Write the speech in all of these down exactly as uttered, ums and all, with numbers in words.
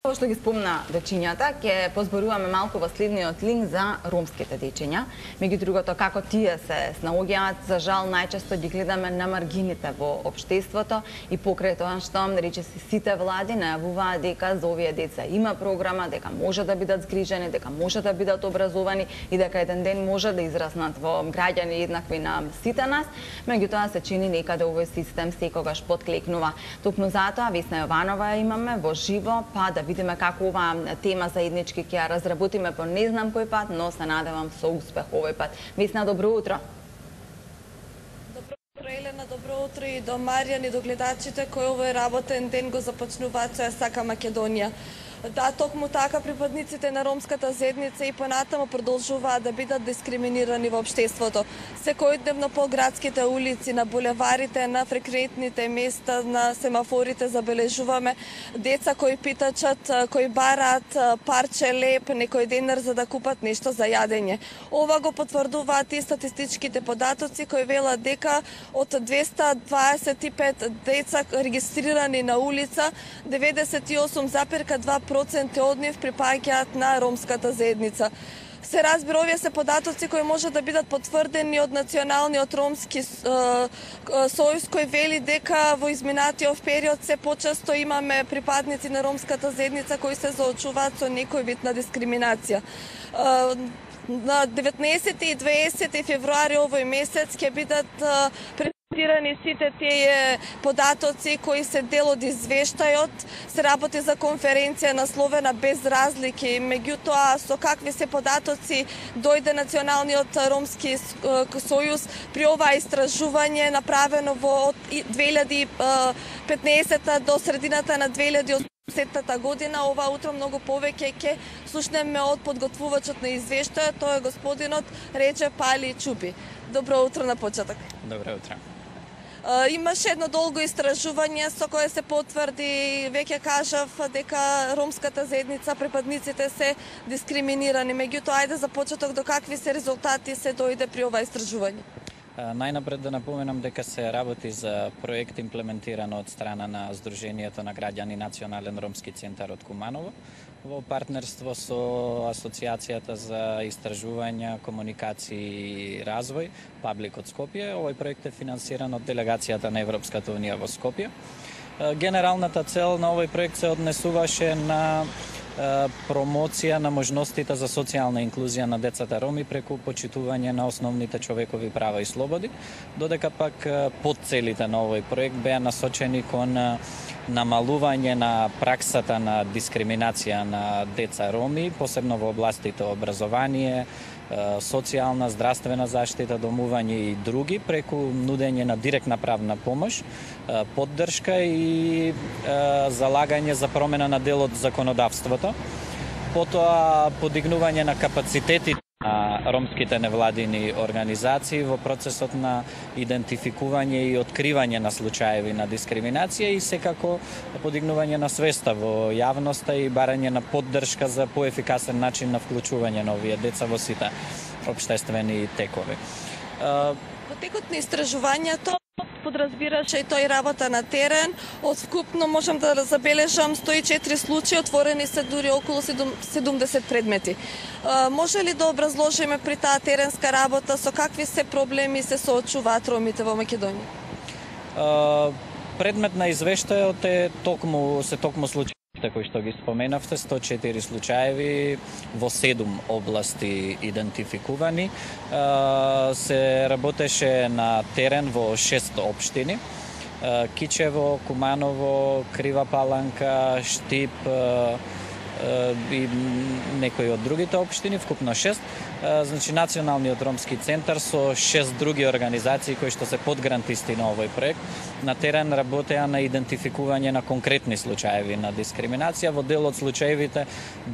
Како што ги спомна дечињата, ќе позборуваме малку во следниот линк за ромските дечиња. Меѓу другото, како тие се снаоѓаат, за жал најчесто ги гледаме на маргините во општеството и покрај тоа што речиси сите влади најавуваат дека за овие деца има програма, дека може да бидат згрижени, дека може да бидат образовани и дека еден ден може да израснат во граѓани еднакви на сите нас. Меѓутоа се чини некаде овој систем секогаш подклекнува. Токму затоа Весна Јованова ја имаме во живо, па да видиме како оваа тема заеднички ќе ја разработиме по не знам кој пат, но се надевам со успех овој пат. Весна, добро утро. Добро утро, Елена, добро утро и до Маријан и до гледачите кои овој работен ден го започнуваат со Ја сака Македонија. Да, токму така припадниците на ромската заедница и понатаму продолжуваат да бидат дискриминирани во општеството. Секојдневно по градските улици, на булеварите, на фреквентните места, на семафорите забележуваме деца кои питачат, кои бараат парче леп, некој денар за да купат нешто за јадење. Ова го потврдуваат и статистичките податоци кои велат дека од двеста дваесет и пет деца регистрирани на улица, деветдесет и осум запирка два проценти од нив припаѓаат на ромската заедница. Се разбира, овие се податоци кои може да бидат потврдени од Националниот ромски сојуз кој вели дека во изминатиот период се почесто имаме припадници на ромската заедница кои се соочуваат со некој вид на дискриминација. На деветнаесети и дваесети февруари овој месец ќе бидат презентирани сите тие податоци кои се дел од извештајот. Се работи за конференција насловена Без разлики. Меѓутоа, со какви се податоци дојде Националниот ромски сојуз при ова истражување направено во две илјади и петнаесета до средината на две илјади и осумдесетата година. Ова утро многу повеќе ќе слушнеме од подготвувачот на извештајот, тоа е господинот Реџеп Али Чупи. Добро утро на почеток. Добро утро. Имаше едно долго истражување со кое се потврди, веќе кажав, дека ромската заедница, припадниците се дискриминирани. Меѓутоа, ајде за почеток до какви се резултати се дојде при ова истражување? Најнапред да напоменам дека се работи за проект имплементиран од страна на Сдруженијето на граѓани Национален ромски центар од Куманово во партнерство со Асоциацијата за истражувања, комуникации и развој, Паблик од Скопје. Овој проект е финансиран од делегацијата на Европската унија во Скопје. Генералната цел на овој проект се однесуваше на промоција на можностите за социјална инклузија на децата роми преку почитување на основните човекови права и слободи, додека пак подцелите на овој проект беа насочени кон намалување на праксата на дискриминација на деца роми, посебно во областите образование, социјална, здравствена заштита, домување и други, преку нудење на директна правна помош, поддршка и залагање за промена на дел од законодавството. Потоа подигнување на капацитети на ромските невладини организации во процесот на идентификување и откривање на случаеви на дискриминација и секако подигнување на свеста во јавноста и барање на поддршка за поефикасен начин на вклучување на овие деца во сите општествени текови. Во текот на истражувањето подразбираше и тој работа на терен. Од вкупно можам да забележам сто и четири случаи, отворени се дури околу седумдесет предмети. Може ли да образложиме при таа теренска работа со какви се проблеми се соочуваат ромите во Македонија? Предмет на извештајот е токму се токму случаи кои што ги споменавте, сто и четири случаеви во седум области идентификувани. Се работеше на терен во шест општини: Кичево, Куманово, Крива Паланка, Штип и некои од другите општини, вкупно шест. Значи, Националниот ромски центар со шест други организации кои што се подгрантисти на овој проект на терен работеа на идентификување на конкретни случаеви на дискриминација. Во дел од случаевите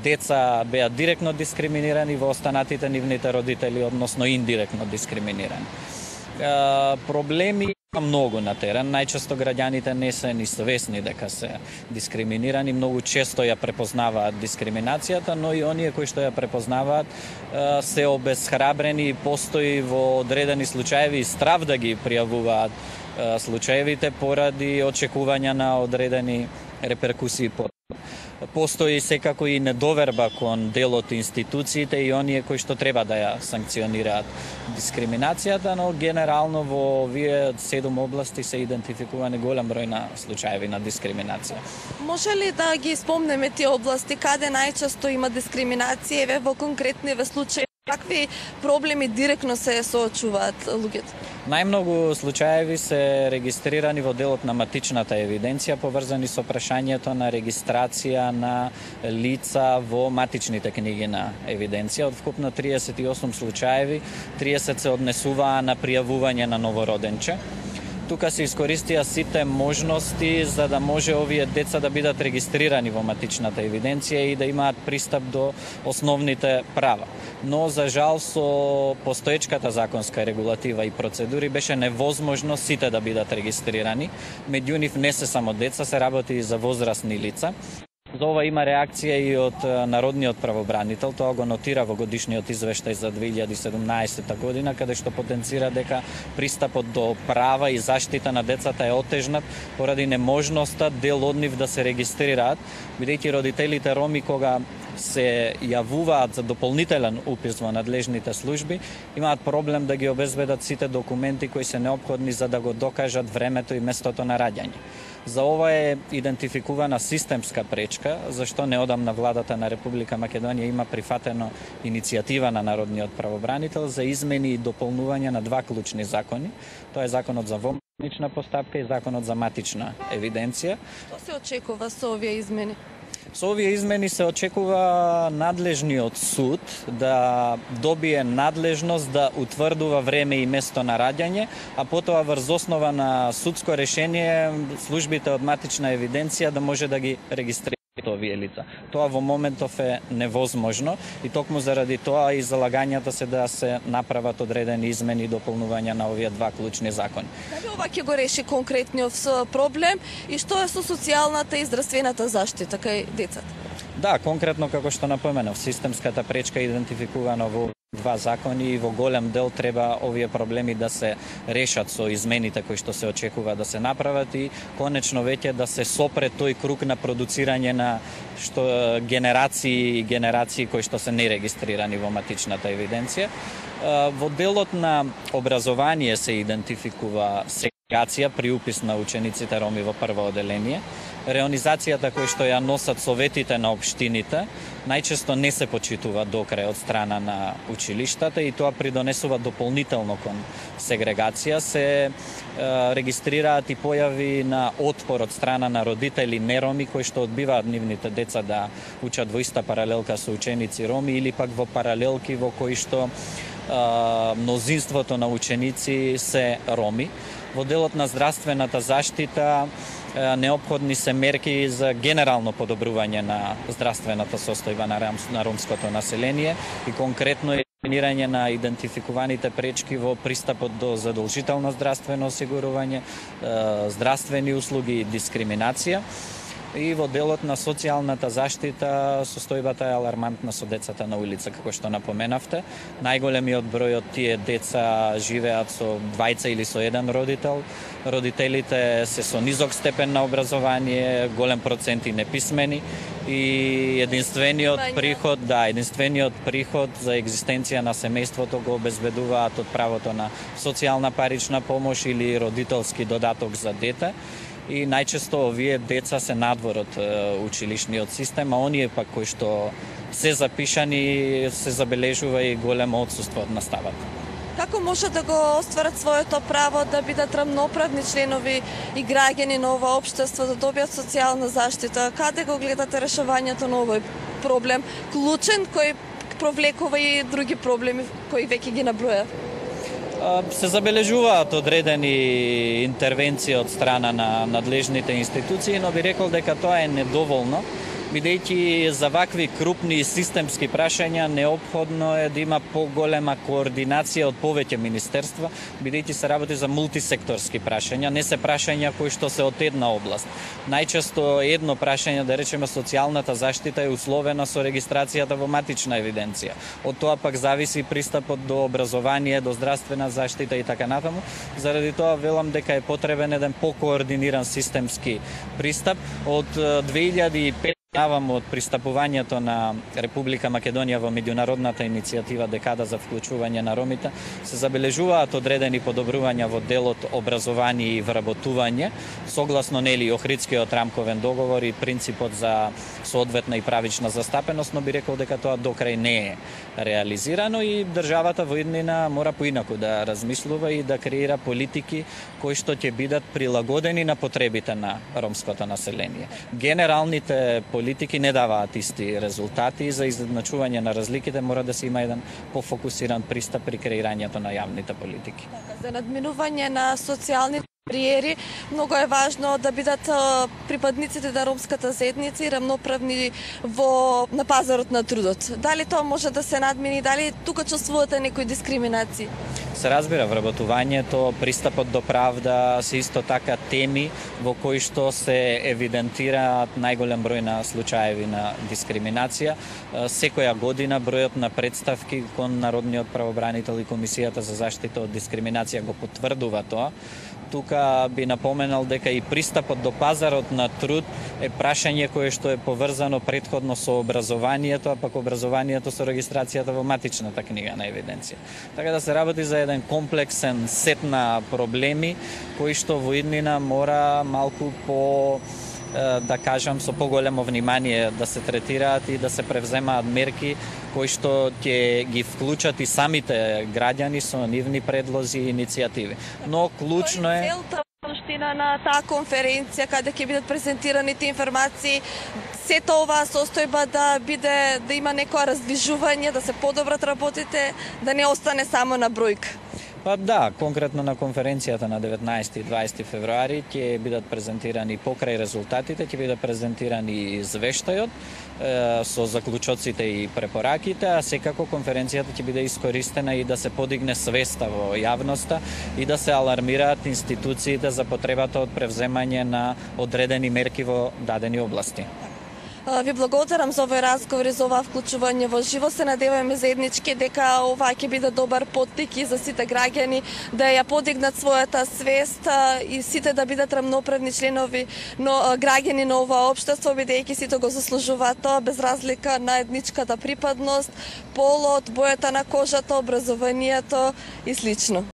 деца беа директно дискриминирани, во останатите нивните родители, односно индиректно дискриминирани. Проблеми многу на терен. Најчесто граѓаните не се ни свесни дека се дискриминирани, многу често ја препознаваат дискриминацијата, но и оние кои што ја препознаваат се обесхрабрени и постои во одредени случаеви и страв да ги пријавуваат случаевите поради очекувања на одредени реперкусии по Постои секако и недоверба кон дел од институциите и оние кои што треба да ја санкционираат дискриминацијата, но генерално во овие седум области се идентификувани голем број на случаеви на дискриминација. Може ли да ги спомнеме тие области каде најчесто има дискриминација, еве во конкретни случаи? Какви проблеми директно се соочуваат луѓето? Најмногу случаеви се регистрирани во делот на матичната евиденција, поврзани со прашањето на регистрација на лица во матичните книги на евиденција. Од вкупно триесет и осум случаеви, триесет се однесуваа на пријавување на новороденче. Тука се искористија сите можности за да може овие деца да бидат регистрирани во матичната евиденција и да имаат пристап до основните права. Но за жал со постоечката законска регулатива и процедури беше невозможно сите да бидат регистрирани. Меѓу нив не се само деца, се работи и за возрастни лица. За ова има реакција и од Народниот правобранител, тоа го нотира во годишниот извештај за две илјади и седумнаесетта година, каде што потенцира дека пристапот до права и заштита на децата е отежнат поради неможноста дел од нив да се регистрираат, бидејќи родителите роми кога се јавуваат за дополнителен упис во надлежните служби, имаат проблем да ги обезбедат сите документи кои се неопходни за да го докажат времето и местото на раѓање. За ова е идентификувана системска пречка, зашто неодамна владата на Република Македонија има прифатено иницијатива на Народниот правобранител за измени и дополнување на два клучни закони. Тоа е законот за вомнична постапка и законот за матична евиденција. Што се очекува со овие измени? Со овие измени се очекува надлежниот суд да добие надлежност да утврдува време и место на раѓање, а потоа врз основа на судско решение службите од матична евиденција да може да ги регистрираат овие лица. Тоа во моментов е невозможно и токму заради тоа и залагањата се да се направат одредени измени и дополнувања на овие два клучни закони. Дали ова ќе го реши конкретниот проблем и што е со социјалната и здравствената заштита кај децата? Да, конкретно како што напоменав, системската пречка е идентификувана во два закони и во голем дел треба овие проблеми да се решат со измените кои што се очекува да се направат и конечно веќе да се сопре тој круг на продуцирање на што генерации и генерации кои што се нерегистрирани во матичната евиденција. Во делот на образование се идентификува сегрегација при упис на учениците роми во прво оделение. Реонизацијата кои што ја носат советите на општините најчесто не се почитува до крај од страна на училиштата и тоа придонесува дополнително кон сегрегација. Се е, регистрираат и појави на отпор од страна на родители нероми кои што одбиваат нивните деца да учат во иста паралелка со ученици роми или пак во паралелки во кои што е, мнозинството на ученици се роми. Во делот на здравствената заштита неопходни се мерки за генерално подобрување на здравствената состојба на, на ромското население и конкретно елиминирање на идентификуваните пречки во пристапот до задолжително здравствено осигурување, здравствени услуги и дискриминација. И во делот на социјалната заштита состојбата е алармантна со децата на улица, како што напоменавте. Најголемиот број од тие деца живеат со двајца или со еден родител. Родителите се со низок степен на образование, голем процент и неписмени и единствениот приход, да, единствениот приход за екзистенција на семејството го обезбедуваат од правото на социјална парична помош или родителски додаток за дете. И најчесто овие деца се надвор од училишниот систем, а оние пак кои што се запишани се забележува и големо отсуство од наставата. Како може да го остварат своето право да бидат рамноправни членови и граѓани на ова општество, да добијат социјална заштита? Каде го гледате решавањето на овој проблем? Клучен кој провлекува и други проблеми кои веќе ги наброја? Се забележуваат одредени интервенции од страна на надлежните институции, но би рекол дека тоа е недоволно, бидејќи за вакви крупни и системски прашања неопходно е да има поголема координација од повеќе министерства, бидејќи се работи за мултисекторски прашања, не се прашања кои што се од една област. Најчесто едно прашање, да речеме социјалната заштита, е условена со регистрацијата во матична евиденција. Од тоа пак зависи пристапот до образование, до здравствена заштита и така натаму. Заради тоа велам дека е потребен еден покоординиран системски пристап. Од две илјади и петте Навам од пристапувањето на Република Македонија во меѓународната иницијатива Декада за вклучување на ромите, се забележуваат одредени подобрувања во делот образование и вработување, согласно нели Охридскиот рамковен договор и принципот за соодветна и правична застапеност, но би рекол дека тоа докрај не е реализирано и државата во иднина мора поинаку да размислува и да креира политики кои што ќе бидат прилагодени на потребите на ромското население. Генералните политики не даваат исти резултати и за изедначување на разликите мора да се има еден пофокусиран пристап при креирањето на јавните политики. За надминување на социјални бариери, многу е важно да бидат припадниците на ромската заедница и рамноправни во на пазарот на трудот. Дали тоа може да се надмини, дали тука чувствувате некои дискриминации? Се разбира, вработувањето, пристапот до правда се исто така теми во кои што се евидентираат најголем број на случаеви на дискриминација. Секоја година бројот на представки кон Народниот правобранител и Комисијата за заштита од дискриминација го потврдува тоа. Тука би напоменал дека и пристапот до пазарот на труд е прашање кое што е поврзано претходно со образованието, а пак образованието со регистрацијата во матичната книга на евиденција. Така да се работи за еден комплексен сет на проблеми кои што во иднина мора малку по да кажам со поголемо внимание да се третираат и да се превземаат мерки кои што ќе ги вклучат и самите граѓани со нивни предлози и иницијативи. Но клучно е Суштина на таа конференција каде ќе бидат презентирани тие информации, сета оваа состојба да биде да има некоја раздвижување, да се подобрат работите, да не остане само на бројка. Па да, конкретно на конференцијата на деветнаесети и дваесети февруари ќе бидат презентирани покрај резултатите, ќе бидат презентирани извештајот е, со заклучоците и препораките, а секако конференцијата ќе биде искористена и да се подигне свеста во јавноста и да се алармираат институциите за потребата од превземање на одредени мерки во дадени области. Ви благодарам за овој разговор и за оваа вклучување во живо. Се надеваме заеднички дека ова ќе биде добар поттик и за сите граѓани да ја подигнат својата свест и сите да бидат рамноправни членови, но граѓани на ова општество, бидејќи сите го заслужуваат тоа без разлика на етничката припадност, полот, бојата на кожата, образованието и слично.